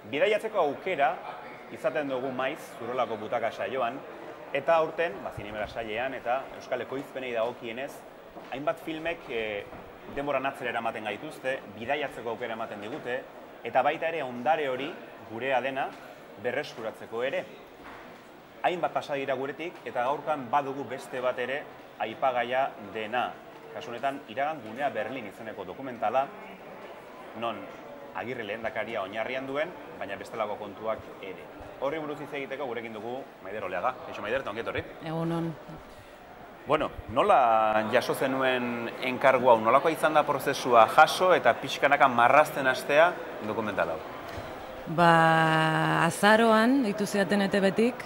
Bidaiatzeko aukera izaten dugu maiz Zurrolako Butaka saioan, eta aurten, Zinemera sailean eta Euskal Ekoizpenei dagokienez, hainbat filmek denboran atzera eramaten gaituzte, bidaiatzeko aukera ematen digute, eta baita ere ondare hori gurea dena berreskuratzeko ere. Hainbat pasa dira guretik, eta gaurkan badugu beste bat ere aipagaia dena. Kasu honetan, Iragan gunea Berlin izeneko dokumentala, non Agirre lehendakaria oinarrian duen, baina bestelako kontuak ere. Horri buruz hitz egiteko gurekin dugu Maider Oleaga. Eixo Maider, eta ongi etorri. Egunon. Bueno, nola jaso zenuen enkargu hau, nolakoa izan da prozesua jaso eta pixkanaka marrazten hastea dokumentala hau? Azaroan, ditu ziaten ETB-tik,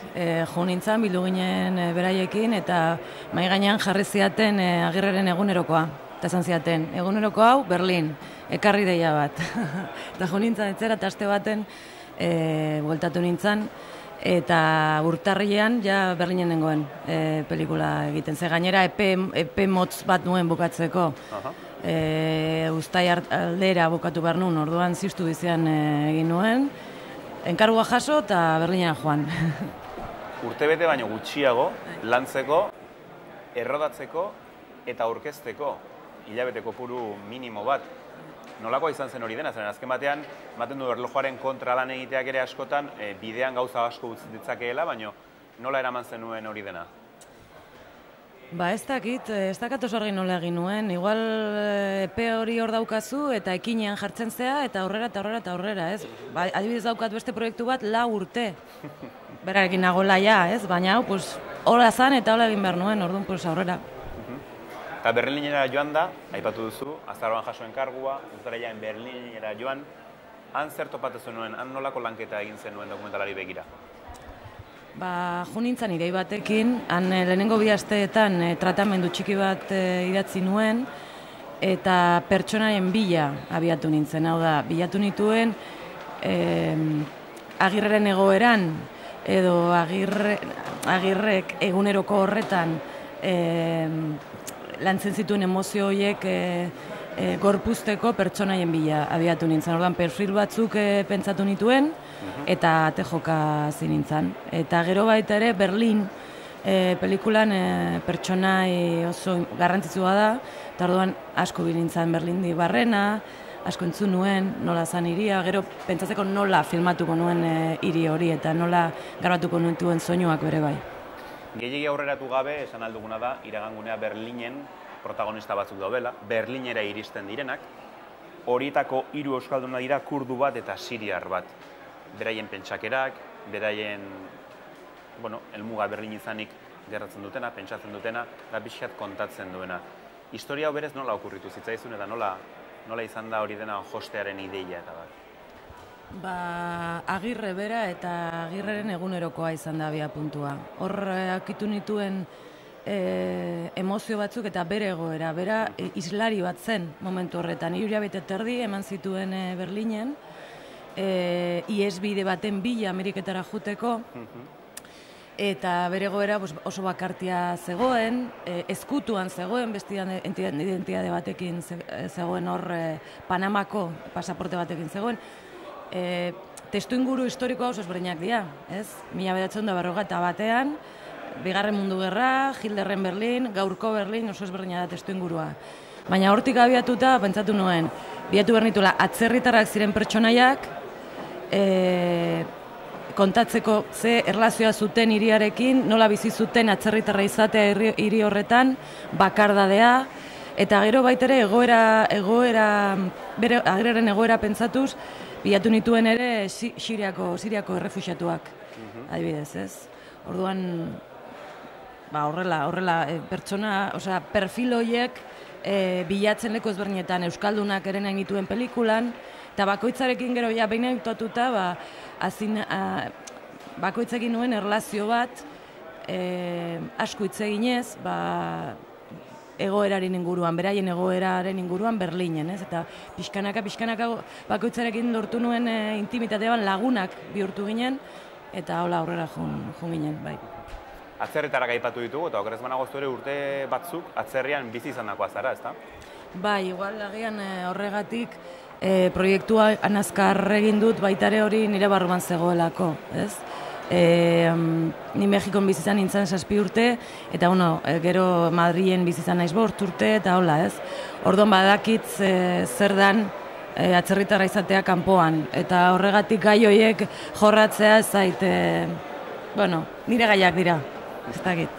jo nintzen, bildu ginen beraiekin, eta mahai gainean jarri ziaten Agirreren egunerokoa. Eta esan ziaten, eguneroko hau, Berlin, ekarri deia bat. Eta jo nintzen, etzera, eta aste baten, bueltatu nintzen, eta urtarrilean ja Berlinen nengoen pelikula egiten. Ze gainera epe motz bat nuen bukatzeko. Uztai aldera bukatu behar nuen, orduan ziztu bizian egin nuen. Enkargua jaso eta Berlinera joan. Urtebete baino gutxiago, lantzeko, errodatzeko eta aurkezteko hilabete kopuru minimo bat. Nolakoa izan zen hori dena, zen azken batean, ematen du erlojuaren kontra lan egiteak ere askotan, bidean gauza asko utzi ditzakeela, baina nola eraman zenuen hori dena? Ez dakit, ez dakat oso argi nola egin nuen. Igual epe hori hor daukazu eta ekinean jartzen zea eta aurrera eta aurrera eta aurrera, ez? Adibidez daukat beste proiektu bat 4 urte. Berarekin nagoela ja, ez? Baina hau, hola zan eta hola egin behar nuen, orduan, aurrera. Eta Berlinera joan da, aipatu duzu, azaroan jaso enkargua, uztarailean Berlinera joan, han zer topatu zenuen, han nolako lanketa egin zenuen dokumentalari begira? Jo nintzen irei batekin, han lehenengo 2 asteetan tratamendu txiki bat idatzi nuen, eta pertsonaren bila abiatu nintzen, hau da, bilatu nituen Agirreren egoeran, edo Agirrek eguneroko horretan lantzen zituen emozio horiek gorpuzteko pertsonaien bila abiatu nintzen. Orduan, perfil batzuk pentsatu nituen, eta ate joka zinintzen. Eta gero baita ere, Berlin pelikulan pertsonai oso garrantzitsua da, eta orduan asko bilintzen Berlindi barrena, asko entzun nuen, nola zan hiria, gero pentsatzeko nola filmatuko nuen hiri hori, eta nola garbatuko nuen soinuak bere bai. Gehiegi aurreratu gabe, esan alduguna da, Iragan gunea Berlinen protagonista batzuk daudela, Berlinera iristen direnak, horietako 3 euskalduna dira kurdu bat eta siriar bat. Beraien pentsakerak, beraien, helmuga Berlin izanik gerratzen dutena, pentsatzen dutena, da pixkat kontatzen duena. Historia hau berez nola okurritu zitzaizun eta nola izan da hori dena jostearen ideia eta bat? Agirre bera eta Agirreren egunerokoa izan da abiapuntua. Hor akitu nituen emozio batzuk eta bere egoera. Bera islari bat zen momentu horretan. 3 hilabete terdi eman zituen Berlinen, ihesbide baten bila Ameriketara juteko, eta bere egoera oso bakartia zegoen, ezkutuan zegoen, beste identitate batekin zegoen hor, Panamako pasaporte batekin zegoen. Testu inguru historiko oso ezberdinak dira, ez? 1941, Bigarren Mundu Gerra, Hitlerren Berlin, gaurko Berlin oso ezberdina da testu ingurua. Baina hortik abiatuta, pentsatu nuen, bilatu behar nituela atzerritarrak ziren pertsonaiak, kontatzeko ze erlazioa zuten hiriarekin, nola bizi zuten atzerritarra izatea hiri horretan, bakardadea, eta gero baitere Agirreren egoera pentsatuz, bilatu nituen ere Siriako errefuxiatuak, adibidez, ez? Orduan, horrela, pertsona, perfil horiek bilatzen leku ezberdinetan euskaldunak ere nahi nituen pelikulan, eta bakoitzarekin gero, behin egitatuta, bakoitzekin nuen erlazio bat, asko hitz eginez, egoeraren inguruan, beraien egoeraren inguruan Berlinen, ez? Eta pixkanaka bakoitzarekin lortu nuen intimitatean lagunak bihurtu ginen, eta hola aurrera joan ginen, bai. Atzerritarak aipatu ditugu, eta okerez banago ere urte batzuk atzerrian bizi izan dakoa zara, ezta? Bai, igual agian horregatik proiektua anazkar egin dut baitare hori nire barruan zegoelako, ez? Ni Mexikon bizizan nintzen 7 urte, eta gero Madrilen bizizan naiz 5 urte, eta hola, ez? Orduan badakit zer dan atzerritarra izatea kanpoan, eta horregatik gai horiek jorratzea ez zait, nire gaiak dira, ez dakit.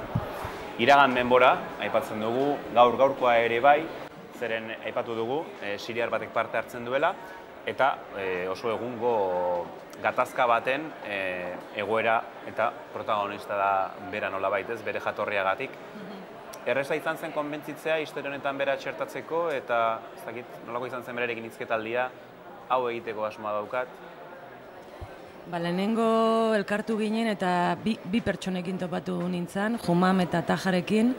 Iragan denbora, aipatzen dugu, gaurkoa ere bai, zeren aipatu dugu, siriar batek parte hartzen duela, eta oso egungo gatazka baten egoera eta protagonista da bera nolabait, ez, bere jatorriagatik. Erreza izan zen konbentzitzea historia honetan bera txertatzeko, eta ez dakit, nolako izan zen berarekin hizketaldia, hau egiteko asmoa daukat. Lehenengo elkartu ginen eta bi pertsonekin topatu nintzen, Jumam eta Tajarekin,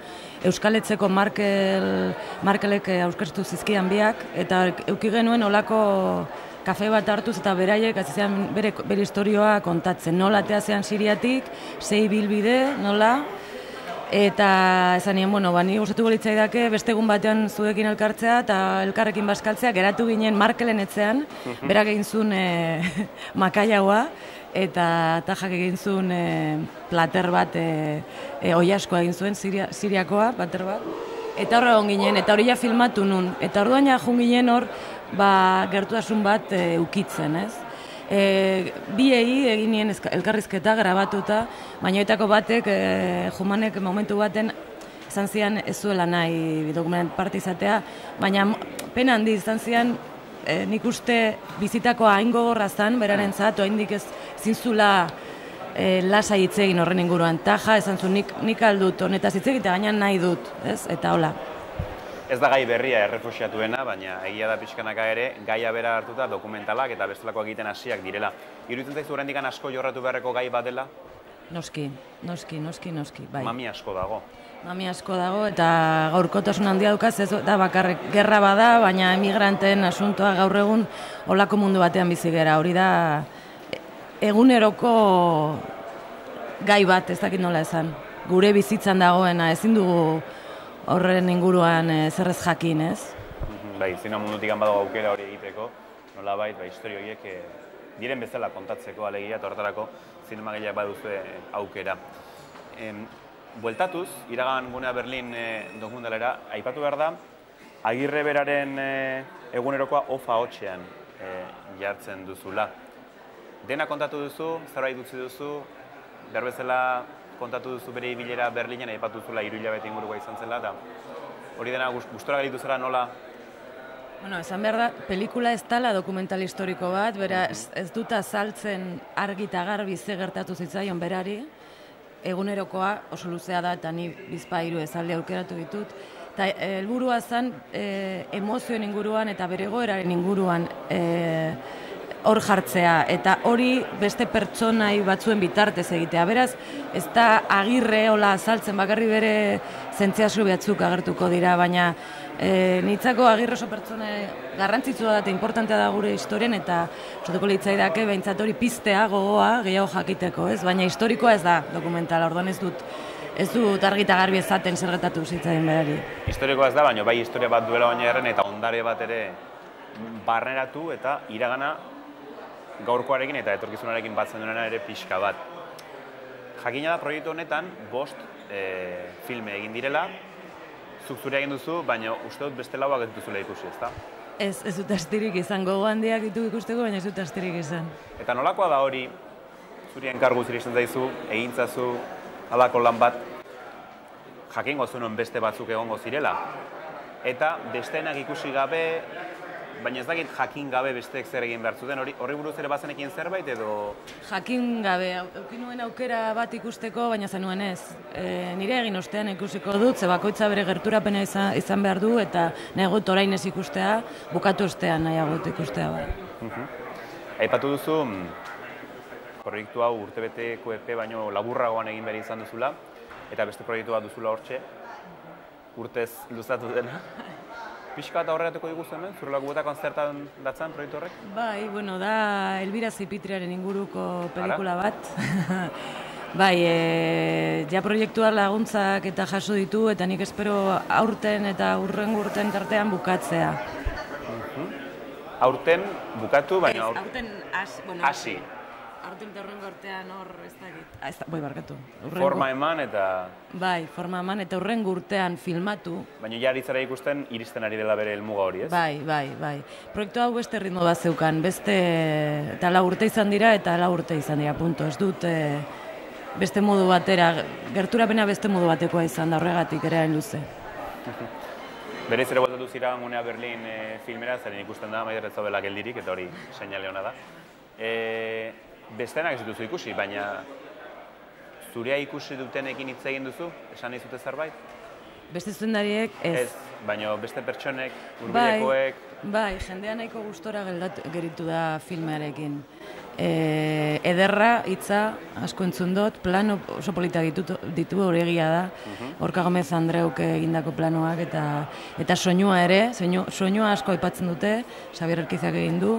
Euskaletzeko Markelek aurkeztu zizkian biak, eta eduki genuen olako kafe bat hartuz eta beraiek azizean bere historioa kontatzen. Nola atea zean Siriatik, sei bilbide, nola, eta esan nien, ni gustatuko litzaidake beste egun batean zuekin elkartzea eta elkarrekin bazkaltzea, geratu ginen Markelen etzean, berak egin zuen makaiagoa, eta Tajak egin zuen plater bat, oiaskoa egin zuen, Siriakoa, plater bat, eta horre egon ginen, eta hori ja filmatu nun, eta orduan ja jun ginen hor, gertutasun bat ukitzen, ez? Biei egin nien elkarrizketa grabatuta, baina etako batek, Jumanek momentu baten izan zian ez zuela nahi dokument parte izatea, baina pena handi izan zian nik uste bizitakoa hain gogorra zan, berarentzat, oraindik ez zintzula lasai hitz egin horren inguruan. Taja esan zuen nik aldut honetaz hitz egitea, baina nahi dut, ez? Eta hola. Ez da gai berria errefuxiatuena, baina egia da pixkanaka ere, gaia bera hartuta dokumentalak eta bestelako egiten hasiak direla. Iruditzen zaizu oraindik asko jorratu beharreko gai bat dela? Noski, bai. Mami asko dago. Mami asko dago eta gaurkotasun handia dukaz, ez da bakarrik gerra bada, baina emigranteen asuntoa gaur egun olako mundu batean bizi gera. Hori da eguneroko gai bat, ez dakit nola esan. Gure bizitzan dagoena, ezin dugu horren inguruan zerrez jakin, ez? Bai, zina mundutik badago aukera hori egiteko, nolabait, historio horiek diren bezala kontatzeko alegia, eta horretarako zinemagaileak baduzue aukera. Bueltatuz, iragan gunea Berlin dokumentalera, aipatu behar da, Agirre beraren egunerokoa ofa hotxean jartzen duzula. Dena kontatu duzu, zerbait dutzi duzu, behar bezala kontatu duzu bere ibilera Berlinen, aipatu duzula 3 hilabete ingurukoa izan zela, eta hori dena gustora galitu zara nola? Esan behar da, pelikula ez dela dokumental historiko bat, bera ez dut azaltzen argi eta garbi ze gertatu zitzaion berari, egunerokoa oso luzea da, eta ni bizpahiru esaldi aukeratu ditut, eta helburua zen emozioen inguruan eta bere egoeraren inguruan hor jartzea, eta hori beste pertsonai batzuen bitartez egitea. Beraz, ez da Agirre hola azaltzen, bakarri bere zentziazio batzuk agertuko dira, baina nitzako Agirre oso pertsona garrantzitsua da eta importantea da gure historian, eta osatuko litzaidake behintzat hori piztea, gogoa, gehiago jakiteko, ez? Baina historikoa ez da dokumentala, orduan ez dut argi eta garbi ezaten zer gertatu zitzaien berari. Historikoa ez da, baina bai historia bat duela baina erren eta ondare bat ere barneratu eta iragana gaurkoarekin eta etorkizunarekin batzen duena ere pixka bat. Jakina da proiektu honetan 5 filme egin direla, zuk zure egin duzu, baina uste dut beste lauak ez duzula ikusi, ezta? Ez dut astirik izan, gogo handiak ditu ikusteko, baina ez dut astirik izan. Eta nolakoa da hori, zuri enkargu ziristen zaizu, egintzazu, halako lan bat, jakingo zuen beste batzuk egongo zirela. Eta besteenak ikusi gabe, baina ez dakit jakin gabe besteek zer egin behar zuten, horri buruz ere bazenekin zerbait edo? Jakin gabe, auki nuen aukera bat ikusteko, baina zenuen ez. Nire egin ostean ikusiko dut, ze bakoitza bere gerturapena izan behar du, eta nahi gut orain ez ikustea, bukatu ostean nahi gut ikustea. Aipatu duzu, proiektu hau urtebeteko epe baino laburragoan egin behar izan duzula, eta beste proiektu bat duzula hortxe, urtez luzatu dena. Pixka eta horretako diguzu hemen, zure laguetakoan zertan datzan proiektu horrek? Bai, da Elbira Zipitriaren inguruko pelikula bat. Bai, ja proiektua laguntzak eta jaso ditu, eta nik espero aurten eta urrengo urten tartean bukatzea. aurten bukatu, baina aurten hasi. Aurten eta hurrengo urtean hor ez dakit. Bai, barkatu. Forma eman eta... Bai, forma eman eta hurrengo urtean filmatu. Baina ja aritzara ikusten iristen ari dela bere helmuga hori, ez? Bai. Proiektu hau beste ritmo bat zeukan, eta 4 urte izan dira eta 4 urte izan dira, punto. Ez dut beste modu batera, gerturapena beste modu batekoa izan da horregatik ere hain luze. Berez ere bueltatu zira Gunea Berlin filmera, zaren ikusten da, Maider ez zaudela geldirik, eta hori seinale hona da. Bestenak ez dituzu ikusi, baina zurea ikusi dutenekin hitz egin duzu? Esan nahi zute zerbait? Beste zuzendariek ez. Baina beste pertsonek, hurbilekoek... Bai, jendea nahiko gustora geritu da filmearekin. Ederra, hitza, asko entzun dut, plano oso politak ditu hori egia da. Orka Gomez Andreuk egindako planoak eta soinua ere, soinua asko aipatzen dute, Xabier Erkizak egin du.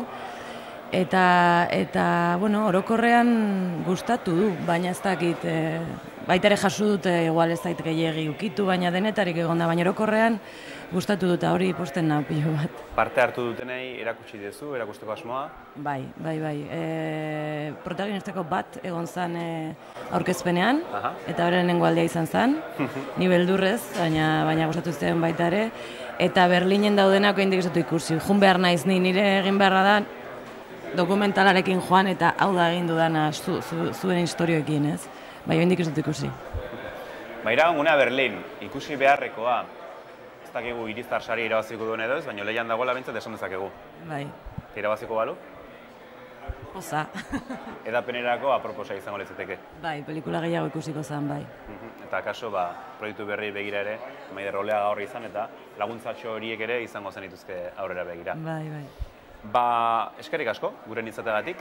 Eta orokorrean gustatu du, baina ez dakit, baita ere jaso dute, igual ez dakit gehiegi ukitu, baina denetarik egon da, baina orokorrean gustatu dut, hori posten nahi pilo bat. Parte hartu dutenei erakutsi dezu, erakusteko asmoa? Bai. Protagonistako bat egon zen aurkezpenean, eta bere lehenengo aldea izan zen, ni beldurrez, baina gustatu zen baita ere, eta Berlinen daudenak oraindik ez dut ikusi, jun behar naiz nire egin beharra da, dokumentalarekin joan eta hau da egin dudana zuen historioekin, ez? Bai, oraindik ez dut ikusi. Maira, Gunea Berlin, ikusi beharrekoa, ez dakigu Irizar sari irabaziko duen edo ez, baina lehian dagoela bintzat esan dezakegu. Bai. Irabaziko balu? Osa. Edapenerako aproposa izango leziteke. Bai, pelikula gehiago ikusiko zen, bai. Eta kaso, proiektu berri begira ere, Maider Oleaga horri izan eta laguntzatxo horiek ere izango zenituzke aurrera begira. Bai. Eskerrik asko, guren izateagatik,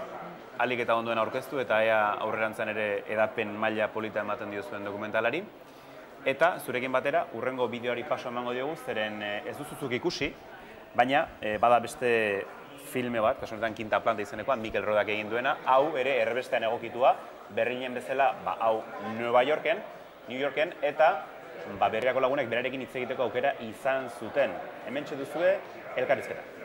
ahalik eta ondoen aurkeztu eta ea aurrerantzan ere edapen maila polita ematen diozuen dokumentalari. Eta zurekin batera, urrengo bideoari paso emango diogu, zeren ez duzuzuk ikusi, baina bada beste filme bat, kasu honetan Quinta Planta izenekoa, Mikel Rodak egin duena, hau ere erbestean egokitua, Berlinen bezala, hau New Yorken, eta berriako lagunek berarekin hitz egiteko aukera izan zuten. Hementxe duzue, elkarrizketa.